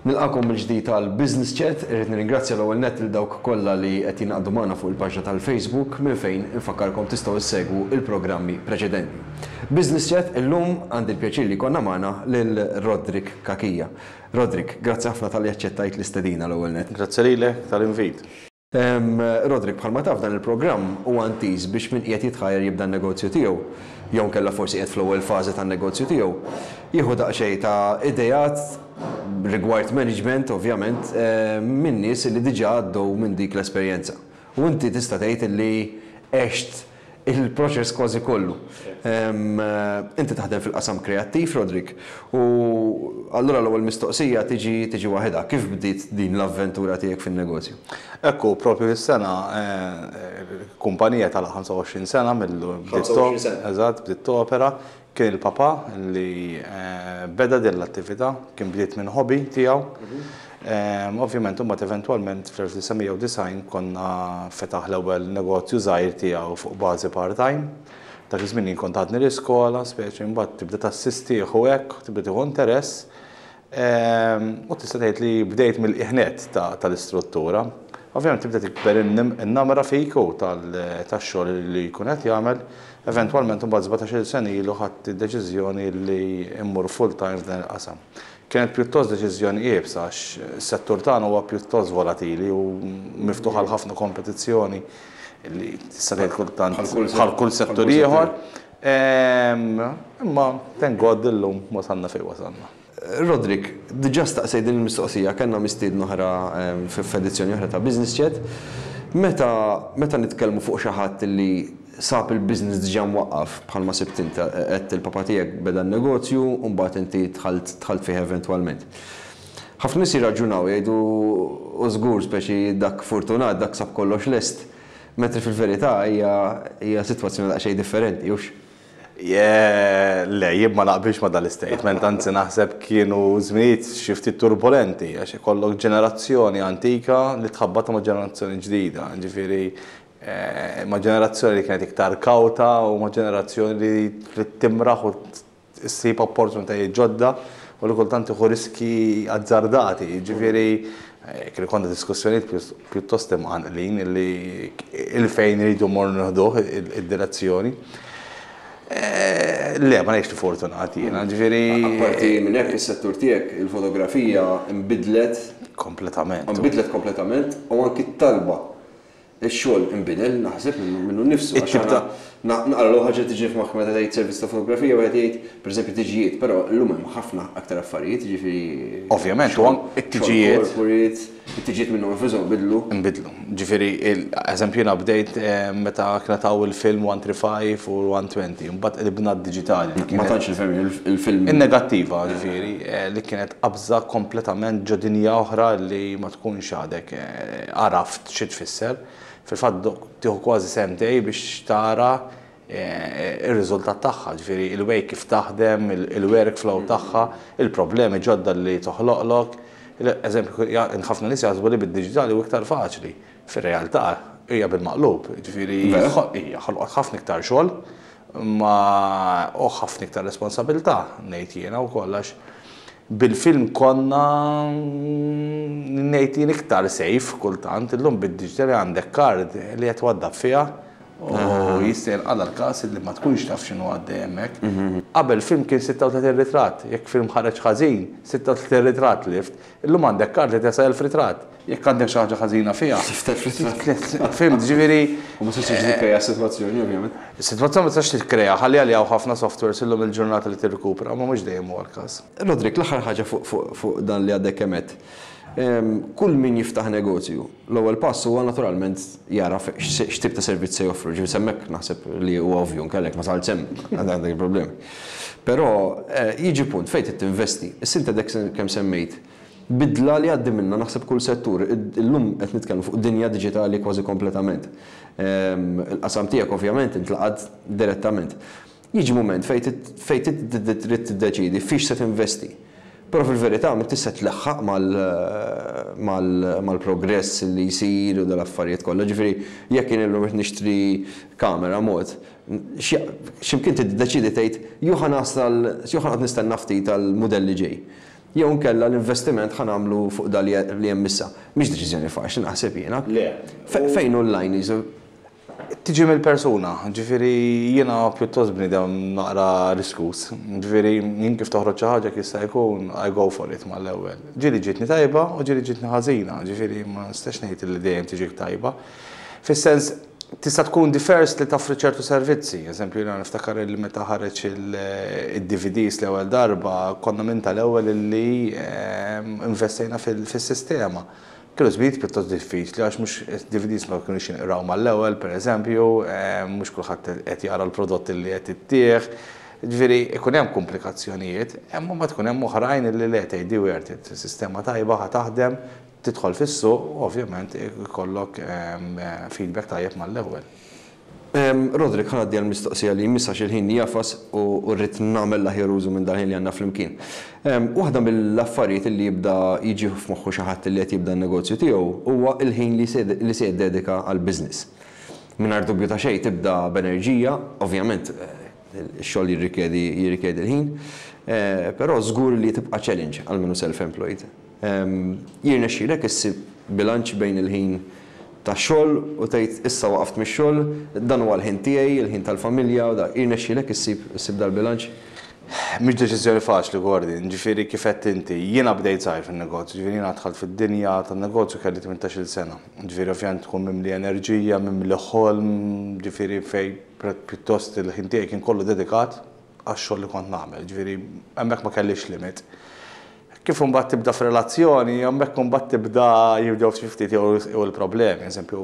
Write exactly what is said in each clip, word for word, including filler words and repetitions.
Nilqagħkom mill-ġdid tal-Business Chat. Irrid nirringrazzja l-ewwel nett lil dawk kollha li qed jingħaqdu magħna fuq il-paġna tal-Facebook, minn fejn infakkarkom tistgħu issegwu il-programmi preċedenti. Business Chat, illum għandi l-pjaċir li jkollna magħna lil Roderick Cachia. Roderick, grazzi ħafna talli aċċettajt l-istedina l-ewwel nett. Grazzi lilek tal-invit. Roderick, bħalma taf, dan il-programm huwa intiż biex min qiegħed jitħajjar jibda n-negozju tiegħu, jew kella forsi qiegħed fl-ewwel fażi tan-negozju tiegħu, jieħu daqsxejn ta' ideat rigward management, ovvjament, eh, minn nies li diġà għaddew minn dik l-esperjenza. U inti tista' tgħid li għext il-proċess kważi kollu. Inti taħdem fil-qasam kreattiv, Roderick, u allura l-ewwel mistoqsija tiġi tiġi waħedha. Kif bdiet din l-avventura tiegħek fin-negozju? Ekku, propju is-sena eh, kumpanija tal-ħamsa u għoxrin sena mill ħamsa u għoxrin sena. Eżatt, bdiet topera. Kien il-papa li eh, beda din l-attività, kien bdiet minn hobby tiegħu. Mhm. Ovvjament, imbagħad eventwalment fl-elf disa' mija u disgħin konna fetaħ l-ewwel negozju żgħir tiegħu fuq bażi part-time. Dak iż-żmien jien kont għadni l-iskola, speċi mbagħad tibda tassistih u hekk, tibda tieħu interess. U tista' tgħid li bdejt mill-qiegħ nett tal-istruttura. Ovvjament tibda tikber in-namra fik u tax-xogħol li jkun qed jagħmel. Eventwalment imbagħad sbatax-il sena ilu ħadt id-deċiżjoni li immur full-time f'dan il-qasam. Kienet pjuttost deċiżjoni iebsa għax is-settur tagħna huwa pjuttost volatili u miftuħ għal ħafna kompetizzjoni li tista' tgħid kultant bħal kull settur ieħor. Imma thank God illum wasalna fejn wasalna. Roderick, diġà staqsejt din il-mistoqsija, kellna mistieden oħra f'edizzjoni oħra ta' Business Chat. Meta meta nitkellmu fuq xi ħadd li sab il-business diġà mwaqqaf, bħalma sibt inti, qed il-papa tiegħek beda n-negozju u mbagħad inti dħalt dħalt fih eventwalment. Ħafna nies jirraġunaw, jgħidu, u żgur, speċi dak fortunat, dak sab kollox lest. Mentri fil-verità hija hija sitwazzjoni daqsxejn differenti, hux? Le, jien ma naqbilx ma dal-statement, anzi naħseb kienu żminijiet xi ftit turbolenti, għax ikollok ġenerazzjoni antika li tħabbata ma' ġenerazzjoni ġdida, ġifieri eh, ma' ġenerazzjoni li kienet iktar kawta u ma' ġenerazzjoni li trid timraħ u ssib opportunitajiet ġodda u li kultant tieħu riski azzardati, ġifieri eh, kien ikollna diskussjonijiet pjuttost imqanqlin li il-fejn iridu mmorru nieħduh id-direzzjoni. Eh, le, ma ngħidx li fortunati jiena, ġifieri. Apparti minn hekk, is-settur tiegħek, il-fotografija, nbidlet Kompletament. Nbidlet kompletament u anki t-talba. Ix-xogħol inbidel, naħseb, minnu minnu nnifsu. Għax It-tip ta' aħna naqra l ħaġa tiġi f'moħħ meta tgħid servizz ta' fotografija, wieħed jgħid, pereżempju, tiġijiet, però llum hemm ħafna aktar affarijiet, ġifieri Ovvjament, u xogħol- anke it-tiġijiet. xogħol corporate, it-tiġijiet minnhom infushom bidlu. Nbidlu. Ġifieri, eżempju, jiena bdejt eh, meta kien hawn il-film mija u tlieta u ħamsin u mija u għoxrin, mbagħad qlibna d-diġitali. Ma tantx il-film, il-film. In-negattiva, ġifieri, eh, li kienet qabża kompletament ġo dinja oħra li ma tkunx għadek eh, għaraft xi tfisser. Fil-fatt tieħu kważi sentej biex tara eh, ir-riżultat tagħha, ġifieri il-way kif taħdem, il-workflow tagħha, il-problemi ġodda li toħloqlok. Eżempju, ħafna nies jaħsbu li bid-diġitali hu iktar faċli. Fir-realtà hija bil-maqlub, ġifieri hija ħolqot ħafna iktar xogħol ma u ħafna iktar responsabilità, ngħid jiena wkoll, għax bil-film konna, ngħid jien, iktar safe kultant. Illum bid-diġitali għandek card li qed waddab fiha u jista' jinqala l-każ li ma tkunx taf x'inhu għaddej hemmhekk. Qabel film kien sitta u tletin ritratt, jekk film ħareġ ħażin, sitta u tletin ritratt lift. Illum għandek card li tesa' elf ritratt. Jekk għandek xi ħaġa ħażina fiha. Fhimt, ġifieri. U ma tistax tikkreja sitwazzjoni, ovvjament. Is-sitwazzjoni ma tistax tikkreja, ħalli għalli hawn ħafna softwares illum il-ġurnata li tirrikupra, ma mhux dejjem huwa l-każ. Roderick, l-aħħar ħaġa fuq dan li għadek kemm għedt. Kull min jiftaħ negozju, l-ewwel pass huwa naturalment jara x'tip ta' servizz se joffru. Ġifieri hemmhekk naħseb li huwa ovvju, nkellek ma sal sem għandek il-problemi. Però eh, jiġi punt fejn trid tinvesti. Issa inti għadek kemm semmejt bidla li għaddi minna naħseb kull settur. Illum qed nitkellmu fuq dinja diġitali kważi kompletament. Il-qasam tiegħek ovvjament intlaqad direttament. Jiġi moment fejn trid tiddeċidi fiex se tinvesti. Però fil-verità ma tista' tleħħaq mal-progress li jsir u dal-affarijiet kollha. Ġifieri jekk jien illum qed nixtri kamera mod, x'imkien tiddeċidi tgħid, jew ħa nasal, jew ħa nistenna ftit tal-mudell li ġej. Jew nkella l-investiment ħa nagħmlu fuq da li hemm issa. Mhix deċiżjoni faċli, naħseb jiena. Le. Fejn online jisu? Tiġi mill-persuna, ġifieri jiena pjuttost bniedem naqra riskus. Ġifieri jien kif toħroġ xi ħaġa jista' jkun, I go for it mal-ewwel. Ġieli ġietni tajba u ġieli ġietni ħażina, ġifieri ma nistax ngħid li dejjem tiġik tajba. Fis-sens, tista' tkun the first li toffri ċertu servizzi. Eżempju, jiena niftakar li meta ħareġ il-D V Ds l-ewwel darba, konna minn tal-ewwel li ehm, investejna fil-sistema. Kienu żminijiet pjuttost diffiċli għax mhux D V Ds ma kienux jinqraw mal-ewwel, pereżempju, ehm, mhux kulħadd qed jara l-prodott li qed ittieħ. Ġifieri ikun hemm komplikazzjonijiet, imma ma tkun hemm oħrajn li le, tgħid worth it, sistema tajba, ħa taħdem, tidħol fis-suq, ovvjament ikollok ehm, feedback tajjeb mal-ewwel. Roderick, ħa ngħaddi għal-mistoqsija li jmiss għax il-ħin jagħfas u rrid nagħmel l-aħjar użu minn dal-ħin li għandna flimkien. Waħda mill-affarijiet li jibda jiġi f'moħħu xi ħadd li qed jibda n-negozju tiegħu huwa il-ħin li se jiddedika għall-business. Mingħajr dubju ta' xejn tibda b'enerġija, ovvjament eh, ix-xogħol jirrikjedi jirrikjedi l-ħin, eh, però żgur li tibqa' challenge għal minnu self-employed. Jirnexxilek issib bilanċ bejn il-ħin ta' xogħol u tgħid, "Issa waqaft mix-xogħol, dan huwa l-ħin tiegħi, il-ħin tal-familja", u da jirnexxilek issib issib dal-bilanċ? Mhix deċiżjoni faċli, Gordon, ġifieri kif qed inti, jiena bdejt żgħir fin-negozju, ġifieri jiena dħalt fid-dinja tan-negozju kelli tmintax-il sena. Ġifieri ovvjament tkun mimli enerġija, mimli ħolm, ġifieri fej pjuttost il-ħin tiegħi kien kollu dedikat għax-xogħol li kont nagħmel, ġifieri hemmhekk ma kellix limit. Kif imbagħad tibda f'relazzjoni, hemmhekk imbagħad tibda jibdew xi ftit jew il-problemi. Eżempju,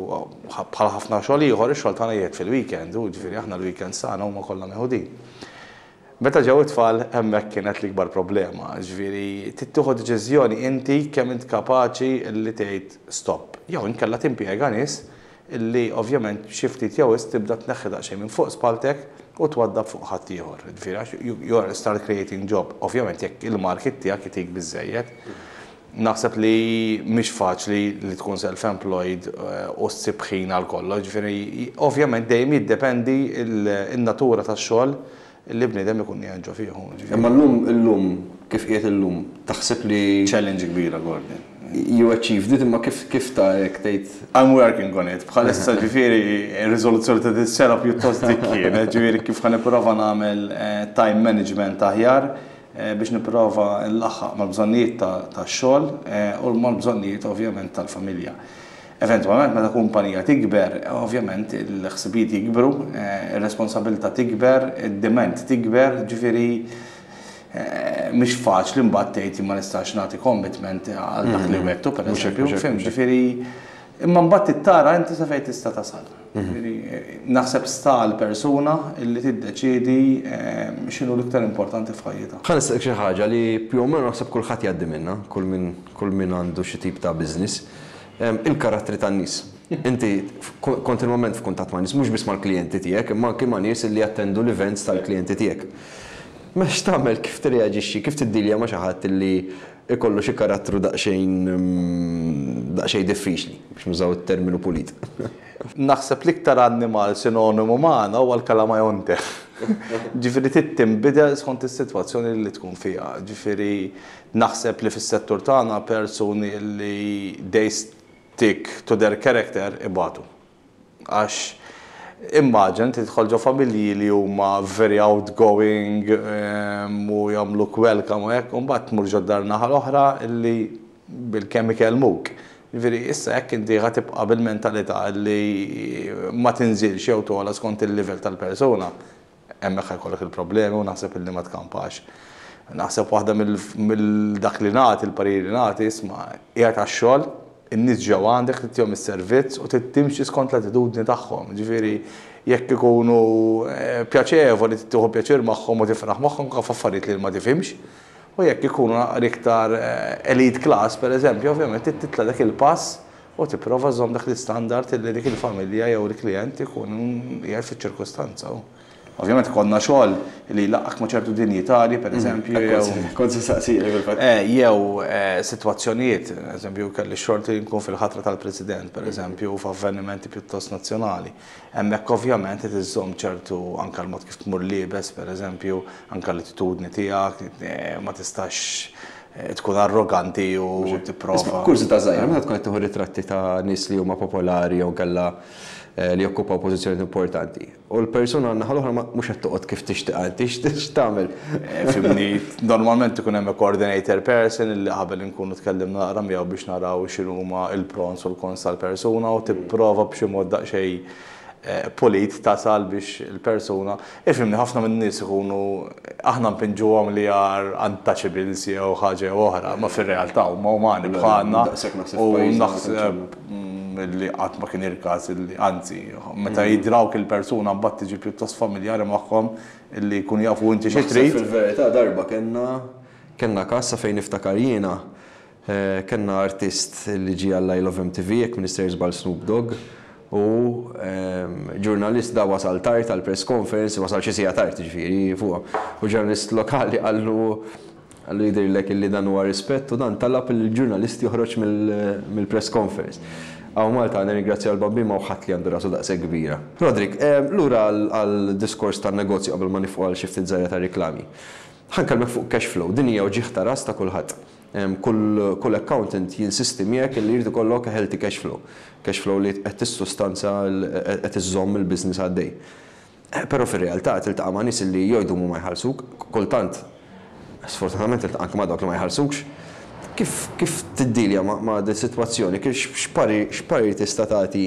bħal ħafna xogħol ieħor, ix-xogħol tagħna jgħid fil-weekend, u ġifieri aħna l-weekend tagħna huma kollha meħudin. Meta ġew it-tfal, hemmhekk kienet l-ikbar problema, ġifieri tieħu deċiżjoni inti kemm int kapaċi li tgħid stop. Jew inkella timpjega nies illi ovvjament xi ftit jew tibda tneħħi daqsxejn minn fuq spaltek u twaddab fuq ħadd ieħor. Ġifieri you start creating job. Ovvjament jekk il-market tiegħek itik biżejjed. Naħseb li mhix faċli li tkun self-employed eh, u ssib ħin għal kollox. Ġifieri ovvjament dejjem jiddependi il-natura tax-xogħol li bniedem ikun ġo fih. Imma llum illum kif qiegħed illum, taħseb li Challenge kbira, Gordon. You achieved it, imma kif kif ta' hekk tgħid? I'm working on it. Bħalissa, ġifieri, ir-riżoluzzjoni ta' dis-sena pjuttost dik kienet, ġifieri kif ħa nipprova nagħmel eh, time management aħjar eh, biex nipprova nlaħħaq mal-bżonnijiet tax-xogħol eh, u mal-bżonnijiet ovvjament tal-familja. Eventualment meta kumpanija tikber, ovvjament il-ħsibijiet jikbru, ir-responsabilità tikber, id-demand tikber, ġifieri mhix faċli mbagħad tgħid ma nistax nagħti commitment għal dak li wegħedtu, pereżempju, fhimt, ġifieri imma mbagħad tara inti sa fejn tista' tasal. Ġifieri naħseb sta l-persuna illi tiddeċiedi x'inhu l-iktar importanti f'ħajjitha. Ħa nistaqsik xi ħaġa li più o meno naħseb kulħadd jgħaddi minnha, kull min kull min għandu xi tip ta' business. Il-karattri tan-nies. Inti kontinwament f'kuntatt ma' nies, mhux biss mal-klijenti tiegħek, imma anke ma' nies li jattendu l-events tal-klijenti tiegħek. Ma x'tagħmel, kif tirreaġixxi, kif tiddilja ma' xi ħadd li ikollu xi karattru daqsxejn mm, daqsxejn diffiċli, biex nużaw it-terminu pulit? Naħseb l-iktar annimal sinonimu magħna huwa l-kalamajonte. Ġifieri trid tinbidel skont is-sitwazzjoni li tkun fiha. Ġifieri naħseb li fis-settur tagħna persuni li they stick to their character ibatu. Għax immaġina tidħol ġo familji li huma very outgoing u jagħmluk welcome u hekk, u mbagħad tmur ġo dar naħa l-oħra illi bil-kemm ikellmuk. Ġifieri issa jekk inti ħa tibqa' bil-mentalità li ma tinżilx jew togħla skont il-livell tal-persuna, hemmhekk jkollok il-problemi u naħseb illi ma tkampax. Naħseb waħda mill-dak li nagħti, il-pariri li nagħti, isma', qiegħed għax-xogħol, in-nies ġew għandek, titihom is-servizz u timxi skont l-attitudni tagħhom. Ġifieri jekk ikunu eh, pjaċevoli, tieħu pjaċir magħhom u tifraħ magħhom kif affarijiet li ma tifhimx. U jekk ikunu iktar eh, elite class, per eżempju, ovvjament titla dak il-pass u tipprova żomm dak l-istandard li dik il-familja jew il-klient ikun qiegħed fiċ-ċirkustanza. Ovvjament konna xogħol li laqqak ma' ċertu dinjitari, per mhm. eżempju. Kont se saqsili fil-fatt. Eh, jew eh, sitwazzjonijiet, eżempju, kelli xorti nkun fil-ħatra tal-President, per eżempju, f'avvenimenti pjuttost nazzjonali. Hemmhekk ovvjament iżżomm ċertu anke l-mod kif tmur liebes, per eżempju, anke l-attitudni tiegħek, eh, ma tistax tkun arroganti u tipprova. Kurżità żgħira, meta tkun qed tieħu ritratti ta' nies li huma popolari jew kellha li jokkupaw pożizzjoni importanti. U l-persuna għan-naħa l-oħra mhux qed toqgħod kif tixtieq inti, x'tagħmel? Fhimni, normalment ikun hemm coordinator person li qabel inkunu tkellimna naqra miegħu biex naraw x'inhuma il-pros u l-cons tal-persuna u tipprova b'xi mod daqsxejn polit tasal biex il-persuna. Ifhimni, ħafna minn nies ikunu aħna npinġuhom li are untouchables jew ħaġa jew oħra, ma fir-realtà huma umani bħalna u naħseb li qatt ma kien il-każ li anzi, meta jidrawk il-persuna mbagħad tiġi pjuttost familjari magħhom illi jkunu jafu inti xi trid. Fil-verità darba kellna kellna każ fejn niftakar jiena kellna artist li ġie għall I Love M T V, jekk m'iniex żball Snoop Dogg, u ġurnalist da wasal tard għal press conference, wasal xi siegħa tard ġifieri fuq. U ġurnalist lokali qallu qallu jidhirlek illi dan huwa rispett, u dan talab il-ġurnalist joħroġ mill-press conference. Hawn Malta nirringrazzja l-Bambin ma ħadd li għandu rasu daqshekk kbira. Roderick, lura għal diskors tan-negozju qabel ma nieqfu għal xi ftit żgħira ta' riklami. Ħa nkellmek fuq cash flow, din hija uġigħ ta' ras ta' kulħadd. Kull accountant jinsisti miegħek li jrid ikollok a healthy cash flow. Cash flow li qed tissustanza, qed iżżomm il-business għaddej. Però fir-realtà tiltaqa' ma' nies li jgħidu ma jħallsuk, kultant sfortunatament tiltaqa' anke ma' dawk li ma jħallsukx. Kif kif tiddilja ma' ma' din sitwazzjoni? Kif x'parir tista' tagħti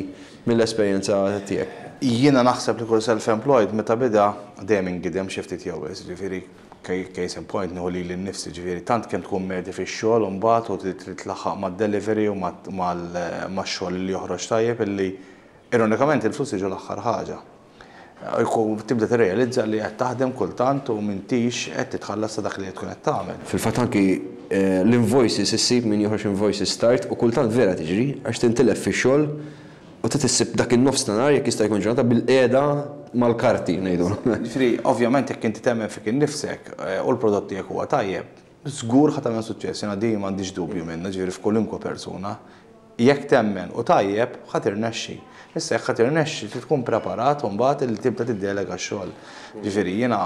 mill-esperjenza tiegħek? Jiena naħseb li kull self-employed meta beda dejjem ingidem xi ftit jew ġifieri case in point nieħu lili nnifsi, ġifieri tant kemm tkun medhi fix-xogħol u mbagħad u trid tlaħħaq mad-delivery u max-xogħol li joħroġ tajjeb illi ironikament il-flus jiġu l-aħħar ħaġa. Tibda tirrealizza li qed taħdem kultant u m'intix qed titħallas ta' dak li qed tkun qed tagħmel. Fil-fatt anki l-invoices issib min joħroġ invoices tard u kultant vera tiġri għax tintilef fix-xogħol u trid issib dak in-nofs ta' nhar, jekk jista' jkun ġurnata, bil-qiegħda mal-karti ngħidu. Ġifieri, ovvjament jekk inti temmen fik innifsek u l-prodott tiegħek huwa tajjeb, żgur ħa tagħmel suċċess, jiena din m'għandix dubju minnha, ġifieri f'kwalunkwe persuna. Jekk temmen u tajjeb, ħa tirnexxi. Issa jekk ħa tirnexxi trid tkun preparat u mbagħad li tibda tiddelega x-xogħol. Ġifieri jiena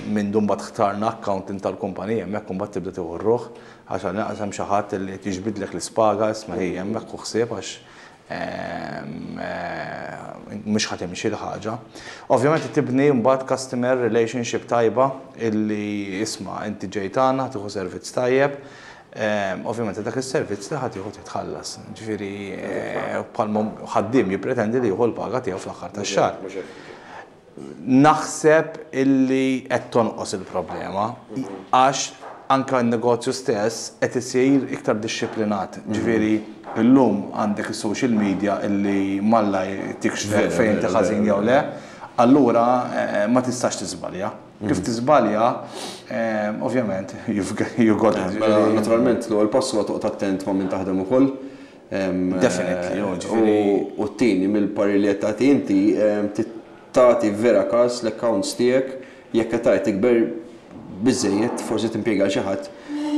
minn dun mbagħad ħtarna accountant tal-kumpanija, hemmhekk imbagħad tibda tieħu r-ruħ għax għal hemm xi ħadd li tiġbidlek l-ispaga, isma' hi hemmhekk u ħsieb għax mhux ħa timxi l-ħaġa. Ovvjament tibni mbagħad customer relationship tajba illi isma' inti ġejt għandna tieħu servizz tajjeb. Ovvjament dak is-servizz li ħadd jieħu titħallas. Ġifieri bħalma ħaddiem jippretendi li jieħu l-paga tiegħu fl-aħħar tax-xahar. Naħseb illi qed tonqos il-problema għax anka n-negozju stess qed isir iktar dixxiplinat. Ġifieri illum għandek is-social media illi malla tikxef fejn inti ħażin jew le, allura ma tistax tiżbalja. Kif tiżbalja, ovvjament, you got it. Mela, naturalment, l-ewwel pass huwa toqgħod attent ma' min taħdem ukoll. Definitely, ġifieri. U t-tieni mill-parir li qed tagħti inti, tagħti vera każ l-accounts tiegħek, jekk qed tgħid tikber biżejjed forsi timpjega xi ħadd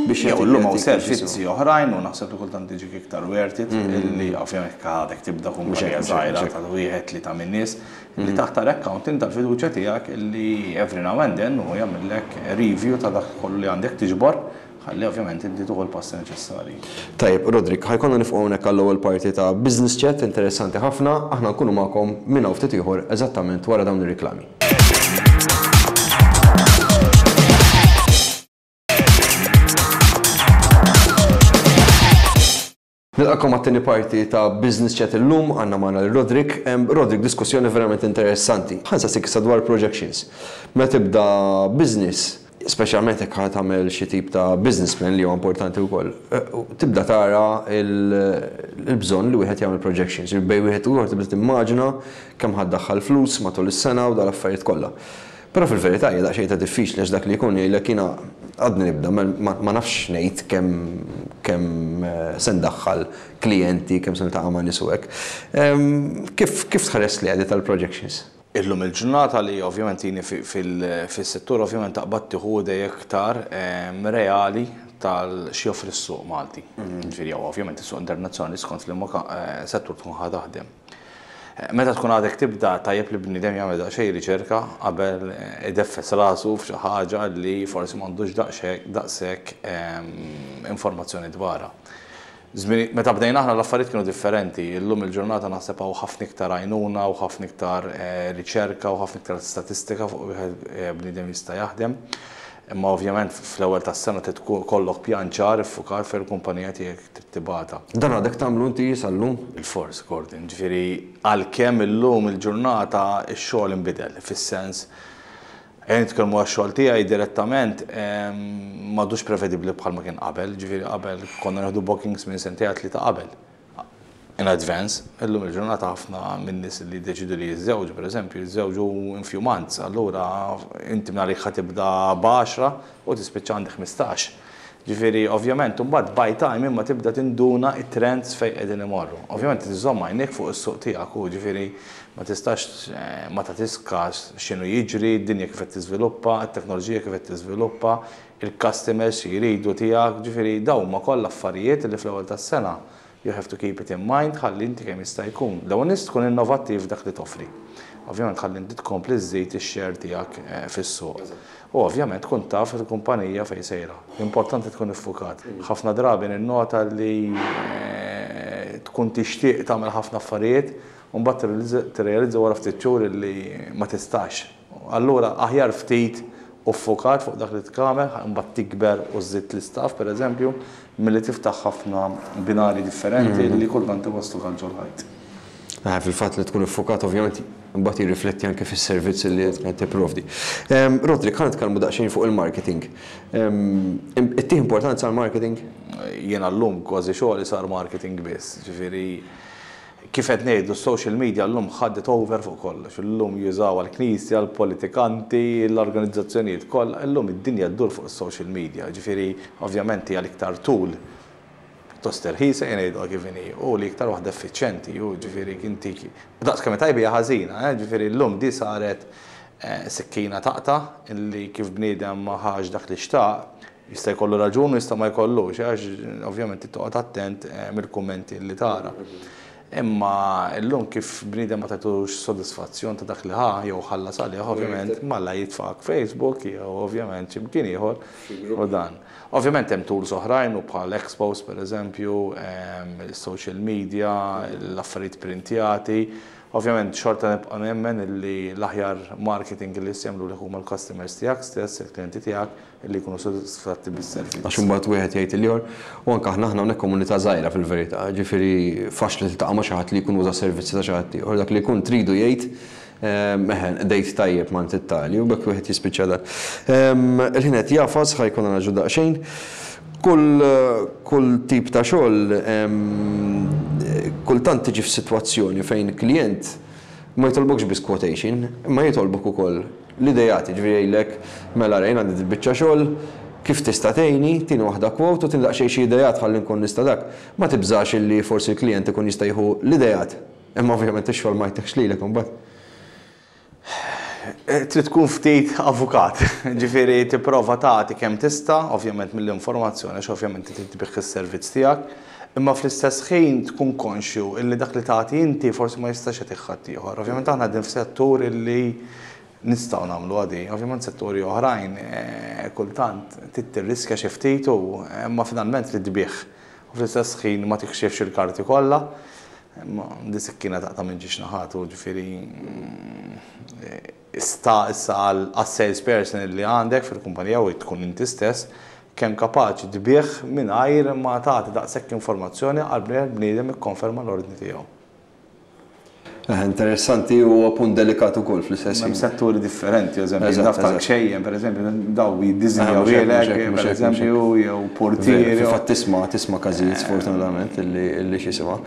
biex Jew illum hawn servizzi oħrajn u naħseb li kultant tiġik iktar worth it illi ovvjament għadek tibda kumpanija żgħira ta' wieħed li ta' min nies li taħtar accountant tal-fiduċja tiegħek illi every now and then u jagħmellek review ta' dak kollu li għandek tiġbor ħalli ovvjament inti tieħu l-passi neċessarji. Tajjeb, Roderick, ħa jkollna nieqfu hawnhekk għall-ewwel parti ta' Business Chat interessanti ħafna, aħna nkunu magħkom minn hawn ftit ieħor eżattament wara dawn ir-riklami. Nilqakom għat-tieni parti ta' Business Chat illum, għandna magħna l-Roderick. Roderick, diskussjoni verament interessanti. Ħa nsaqsik issa dwar projections. Meta tibda business, speċjalment jekk ħa tagħmel xi tip ta' business plan li huwa importanti wkoll, tibda tara il-bżonn li wieħed jagħmel projections. Bejn wieħed u ieħor tibda timmaġina kemm ħa ddaħħal flus matul is-sena u dal-affarijiet kollha. Però fil-verità hija daqsxejn ta' diffiċli għax dak li jkun jgħidlek jiena għadni nibda, ma nafx ngħid kemm kemm se ndaħħal klijenti, kemm se niltaqa' ma' nies u hekk. Kif kif tħares li għadi tal-projections? Illum il-ġurnata li ovvjament jini fis-settur ovvjament taqbad tieħu idea iktar reali tal x'joffri s-suq Malti. Ġifieri jew ovvjament is-suq internazzjonali skont li settur tkun ħa taħdem. Meta tkun għadek tibda, tajjeb li bniedem jagħmel daqsxejn riċerka qabel ideffes rasu f'xi ħaġa li forsi m'għandux daqshekk daqshekk informazzjoni dwarha. Meta bdejna aħna, l-affarijiet kienu differenti. Illum il-ġurnata naħseb hawn ħafna iktar għajnuna u ħafna iktar eh, riċerka u ħafna iktar statistika fuq wieħed eh, bniedem jista' jaħdem. Imma ovvjament fl-ewwel tas-sena trid ikollok pjan ċar iffukat fejn il-kumpanija tiegħek trid tibgħatha. Dan għadek tagħmlu inti sal-lum? Il-fors, Gordon, ġifieri għalkemm illum il-ġurnata x-xogħol inbidel, fis-sens ejja nitkellmu għax-xogħol tiegħi direttament, m'għadux prevedibbli bħalma kien qabel, ġifieri qabel konna nieħdu bookings minn sentejn, tlieta qabel. In advance. Illum il-ġurnata ħafna minn nies li deċidu li jiżżewġu, per eżempju, jiżżewġu in few months, allura inti minn għalik tibda b'għaxra u tispiċċa għandek ħmistax. Ġifieri, ovvjament, mbagħad by time imma tibda tinduna it-trends fejn qegħdin imorru. Ovvjament tiżomm għajnek fuq is-suq tiegħek u ġifieri ma tistax eh, ma tagħtix kas x'inhu jiġri, d-dinja kif qed tiżviluppa, it-teknoloġija kif qed tiżviluppa, il-customers jridu tiegħek, ġifieri dawn huma kollha affarijiet li fl-ewwel tas-sena you have to keep it in mind ħalli inti kemm jista' jkun. L-ewwel nies tkun innovattiv dak li toffri. Ovvjament ħalli inti tkompli żżid ix-share tiegħek eh, fis-suq. U ovvjament tkun taf il-kumpanija fejn sejra. L-importanti tkun iffukat. Ħafna drabi ninnota li eh, tkun tixtieq tagħmel ħafna affarijiet u mbagħad tirrealizza wara ftit xhur li ma tistax. Allura aħjar ftit u ffukat fuq dak li tagħmel, mbagħad tikber u żżid l-istaff, pereżempju, milli tiftaħ ħafna binari differenti li kultant iwasslu għal ġol-ħajt. Ah, fil-fatt li tkun iffukat ovvjament mbagħad jirrifletti anke fis-servizz li qed tipprovdi. Roderick, ħa nitkellmu daqsxejn fuq il-marketing. Ittih importanza għall-marketing? Jiena llum kważi xogħli sar marketing biss, ġifieri kif qed ngħidu, social media llum ħadet over fuq kollox. Illum jużaw għall-knisja, l-politikanti, l-organizzazzjonijiet kollha, illum id-dinja ddur fuq is-social media. Ġifieri ovvjament hija l-iktar tool pjuttost irħisa, ngħidu kif inhi, u li iktar waħda effiċjenti, u ġifieri inti daqs kemm tajba hija ħażina, eh, ġifieri llum di saret eh, sikkina taqta' illi kif bniedem ma ħax dak li xtaq, jista' jkollu raġun u jista' ma jkollux, għax ovvjament toqgħod attent eh, mill-kummenti li tara. Imma llum kif bniedem ma tagħtux sodisfazzjon ta' dak li ħa jew ħallas għalih, ovvjament malla jitfak Facebook jew ovvjament x'imkien ieħor u dan. Ovvjament hemm tools oħrajn u bħal expos, per eżempju, social media, l-affarijiet printjati. Ovvjament xorta nibqa' nemmen li l-aħjar marketing li jagħmlu li huma l-customers tiegħek stess, il-klijenti tiegħek li jkunu sodisfatti bis-servizz. Għax imbagħad wieħed jgħid il-ieħor, u anke aħna aħna hawnhekk komunità żgħira fil-verità, ġifieri faċli tiltaqa' ma' xi ħadd li jkun uża servizzi ta' xi ħadd ieħor, dak li jkun tridu jgħid, eħen, dejt tajjeb ma' tittali, u bekk wieħed jispiċċa dan. Il-ħin qed jagħfas, ħa jkun ngħaġġlu daqsxejn. Kull kull tip ta' xogħol kultant tiġi f'sitwazzjoni fejn klient ma jitolbokx biss quotation, ma jitolbok ukoll l-idejat, ġifieri jgħidlek, "Mela rejn għandi biċċa xogħol, kif tista' tgħinni, tini waħda quote u tini daqsxejn xi idejat ħalli nkun nista' dak." Ma tibżax illi forsi l-klient ikun jista' jieħu l-idejat, imma ovvjament ix-xogħol ma jtekx lilek imbagħad? Eh, trid tkun ftit avukat, ġifieri tipprova tagħti kemm tista', ovvjament mill-informazzjoni, għax ovvjament trid tbigħ is-servizz tiegħek, imma fl-istess ħin tkun konxju illi dak li tagħti inti forsi ma jistax jagħtih ħadd ieħor. Ovvjament aħna qegħdin f'settur illi nistgħu nagħmlu għadi. Ovvjament setturi oħrajn eh, kultant trid tirriskja xi ftit u imma finalment trid tbigħ. U fl-istess ħin ma tikxifx il-karti kollha. Imma di sikkina taqta' minn żewġ naħat u ġifieri mm, sta issa għal salesperson li għandek fil-kumpanija u tkun inti stess kemm kapaċi tbigħ mingħajr ma tagħti daqshekk informazzjoni għal bniedem ikkonferma l-ordni tiegħu. Eh, interessanti u punt delikat ukoll fl-istess Hemm setturi differenti, eżempju, naf tal-kxejjen, per eżempju, daw jiddiżinjaw lilek, per eżempju, jew portieri. Fatt tisma' tisma' każijiet, sfortunatament, illi x'jisimha.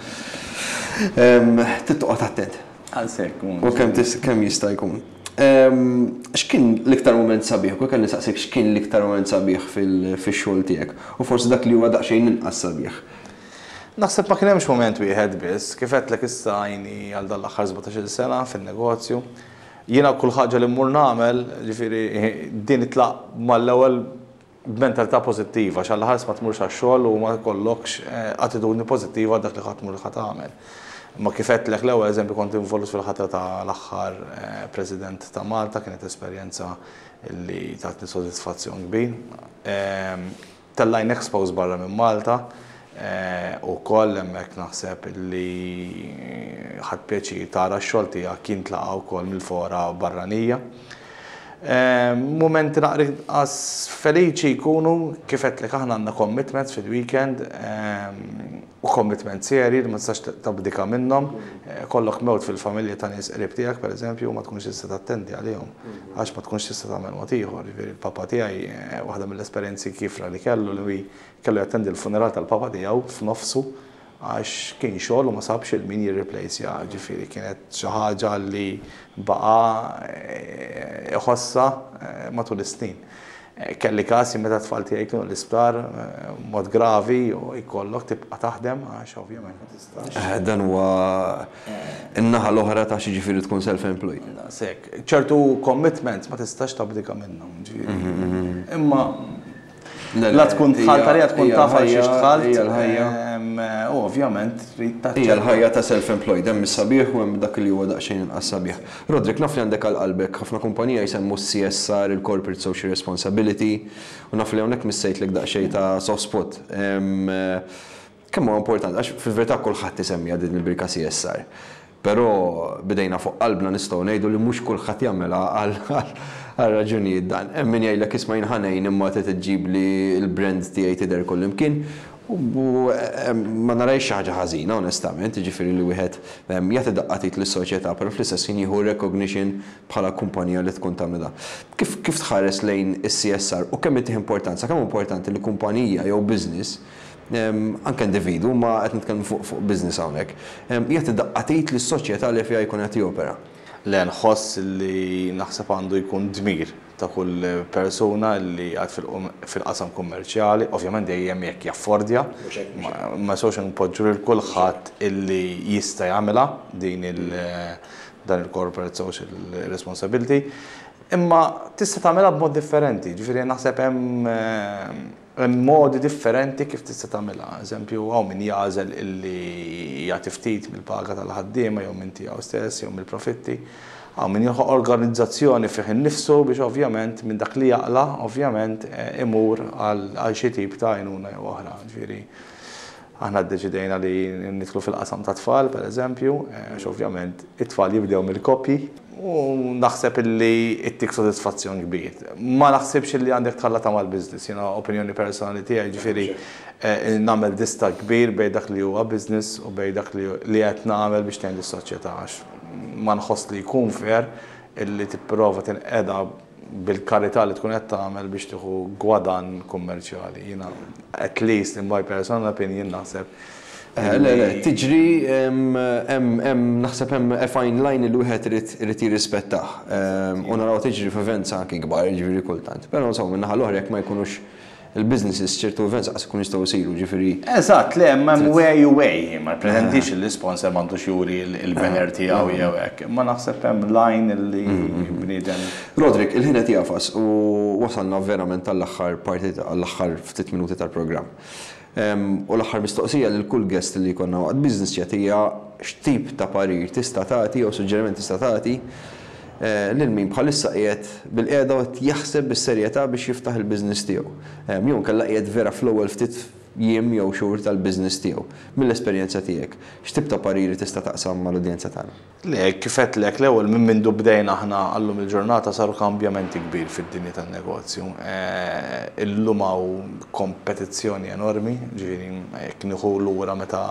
Trid toqgħod attent. Għal-sekk. U kemm kemm jista' jkun. X'kien l-iktar moment sabiħ? U kelli saqsik x'kien l-iktar moment sabiħ fil-xogħol tiegħek? U forsi dak li huwa daqsxejn inqas sabiħ. Naħseb ma kien hemmx moment wieħed biss, kif għedtlek, issa għajni għal dan l-aħħar sbatax-il sena fin-negozju. Jiena kull ħaġa li mmur nagħmel, ġifieri din itlaq mal-ewwel b'mentalità pożittiva, għax għall-ħars ma tmurx għax-xogħol u ma jkollokx eh, attitudni pożittiva dak li ħadd tmur ħa tagħmel. Ma kif għedtlek l-ewwel eżempju, kont involut fil-ħatra ta' l-aħħar eh, President ta' Malta, kienet esperjenza li tatni sodisfazzjon kbir. Ehm, Tellajna expos barra minn Malta, eh, u koll hemmhekk naħseb li ħadt pjaċir tara x-xogħol tiegħek kien tlaqa' wkoll mill-fora barranija. Ehm, Momenti naqra inqas feliċi jkunu, kif għedtlek, aħna għandna commitments fil-weekend ehm, u commitment seri li ma tistax tabdika minnhom. Eh, Kollok mewt fil-familja ta' nies qrib tiegħek, pereżempju, ma tkunx tista' tattendi għalihom għax ma tkunx tista' tagħmel mod ieħor. Jiġifieri il-papa tiegħi, eh, waħda mill-esperjenzi kiefra li kellu, li kellu jattendi l-funeral tal-papa tiegħu f'nofsu għax kien xogħol u ma sabx lil min jirreplaceja, ġifieri kienet xi ħaġa li baqa eh, iħossa eh, matul is-snin. Eh, Kelli kasi meta tfal tiegħi kienu l-isptar mod gravi u jkollok tibqa' taħdem għax ovvjament ma tistax. Eh, Dan huwa in-naħa l-oħra ta' xi ġifieri tkun self-employed. Sek, ċertu commitments ma tistax tabdika minnhom, ġifieri. Imma Le, la le, tkun hija- dħalt għalija tkun hija taf għal xiex l-ħajja- dħalt. hija l-ħajja. em, U ovvjament trid Hija taċċetta. l-ħajja ta' self-employed, hemm is-sabiħ u hemm dak li huwa daqsxejn inqas sabiħ. Roderick, naf li għandek għal qalbek ħafna kumpanija jsemmu C S R, il-Corporate Social Responsibility, u naf li hawnhekk missejtlek daqsxejn ta' soft spot. Em, eh, Kemm huwa importanti, għax fil-verità kulħadd isemmiha din il-birka C S R. Però bidejna fuq qalbna nistgħu ngħidu li mhux kulħadd jagħmilha għal għal raġunijiet dan. Hemm min jgħidlek, "Isma', jien ħa ngħin, imma trid iġġib li l-brand tiegħi tidher kull imkien." U em, ma narajx xi ħaġa ħażina onestament, jiġifieri li wieħed em, jagħti daqqa t'id lis-soċjetà, però fl-istess ħin jieħu recognition bħala kumpanija li tkun tagħmel da. Kif kif tħares lejn is-C S R u kemm ittih importanza, kemm importanti li kumpanija jew business, em, anke individu, ma qed nitkellmu fuq fuq business hawnhekk, em, jagħti daqqa t'id lis-soċjetà li fiha jkun qed jopera? Le, nħoss li naħseb għandu jkun dmir ta' kull persuna li għad fil-qasam kummerċjali, ovvjament dejjem jekk jaffordja, ma- ma sewx npoġġu lil kulħadd illi jista' jagħmilha din il- dan il-corporate social responsibility. Imma tista' tagħmilha b'mod differenti, ġifieri naħseb hemm eh, hemm modi differenti kif tista' tagħmilha. Eżempju, hawn min jagħżel illi jagħti ftit mill-paga tal-ħaddiema jew minn tiegħu stess jew mill-profitti. Hawn min joħloq organizzazzjoni fih innifsu biex ovvjament minn dak li jaqla, ovvjament eh, imur għal għal xi tip ta' għajnuna jew oħra. Ġifieri aħna ddeċidejna li nidħlu fil-qasam ta' tfal, per eżempju, eh, għax ovvjament it-tfal jibdew mill-koppji u naħseb illi ittik sodisfazzjon kbir. Ma naħsibx illi għandek tħallata mal-business, jiena opinjoni personali tiegħi, ġifieri eh, nagħmel distakk kbir bejn dak li huwa business u bejn dak li li qed nagħmel biex tgħin lis-soċjetà, għax ma nħoss li jkun fair illi tipprova tinqeda bil-karità li tkun qed tagħmel biex tieħu gwadan kummerċjali. Jiena, at least in my personal opinion, naħseb Eh, Le, le, tiġri hemm hemm naħseb hemm a fine line li wieħed irid irid jirrispettah. Em, U naraw tiġri f'events anki kbar, ġifieri kultant. Però insomma, min-naħa l-oħra, jekk ma jkunux il-businesses, ċertu events qas ikun jistgħu jsiru, ġifieri. Eżatt, le, ma way you way, ma pretendix il-sponsor m'għandux juri il-banner tiegħu jew hekk. Ma naħseb hemm line li bniedem. Roderick, il-ħin qed jagħfas u wasalna verament tal-aħħar parti, għall-aħħar ftit minuti tal-programm. Em, U l-aħħar mistoqsija lil kull guest li jkollna waqt Business Chat hija x'tip ta' parir tista' tagħti jew suġġeriment tista' tagħti eh, lil min bħalissa qiegħed bil-qiegħda u qed jaħseb bis-serjetà biex jiftaħ il-business tiegħu. Em, Jew inkella qiegħed vera fl-ewwel ftit jiem jew xhur tal-business tiegħu. Mill-esperjenza tiegħek, x'tip ta' pariri tista' taqsam mal-udjenza tagħna? Le, kif għedtlek l-ewwel, minn mindu bdejna aħna għallum il-ġurnata saru kambjamenti kbir fid-dinja tan-negozju. Eh, Illum hawn kompetizzjoni enormi, ġifieri jekk nieħu lura meta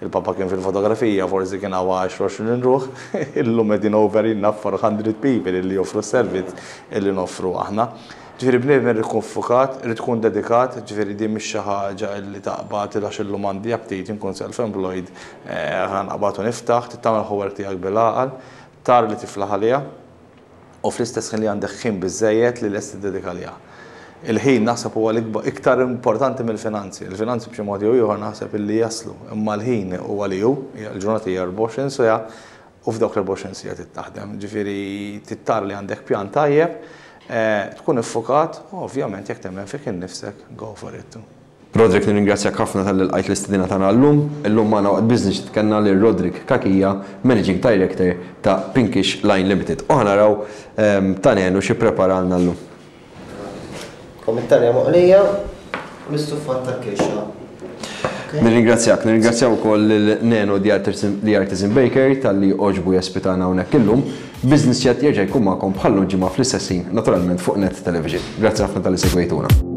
il-papa kien fil-fotografija, forsi kien hawn għaxra ruħ, illum qegħdin over enough four hundred people illi joffru servizz illi noffru aħna. Ġifieri bniedem irid ikun ffukat, irid tkun dedikat, ġifieri din mhix xi ħaġa illi taqbad għax illum għandi aptit inkun self-employed, eh, ħa naqbad u niftaħ, tagħmel homework tiegħek bil-għaqal, tara li tiflaħ għaliha u fl-istess ħin li għandek ħin biżejjed li lest tiddedika għaliha. Il-ħin naħseb huwa l-ikbar iktar importanti mill-finanzi. Il-finanzi b'xi mod jew ieħor naħseb illi jaslu, imma l-ħin huwa li hu, il-ġurnata hija erbgħa u għoxrin siegħa u f'dawk l-erbgħa u għoxrin siegħa trid taħdem. Ġifieri trid tara li għandek pjan tajjeb, eh, tkun iffukat, u ovvjament jekk temmen fik innifsek, go for it. Roderick, nirringrazzjak ħafna talli lqajt l-istedina tagħna llum. Illum magħna waqt Business kellna lil Roderick Cachia, Managing Director ta' Pinkish Line Limited. U ħa naraw ehm, ta' Nenu xi preparalna llum. Komittarja moqlija, l-istuffat ta' kirxa. Nirringrazzjak, nirringrazzjaw ukoll lil Nenu The Artisan, The Artisan Baker talli għoġbu jospitana hawnhekk illum. Business Chat jerġa' jkun magħkom bħal-lum ġimgħa fl-istess ħin, naturalment fuq Net Television. Grazzi ħafna talli segwejtuna.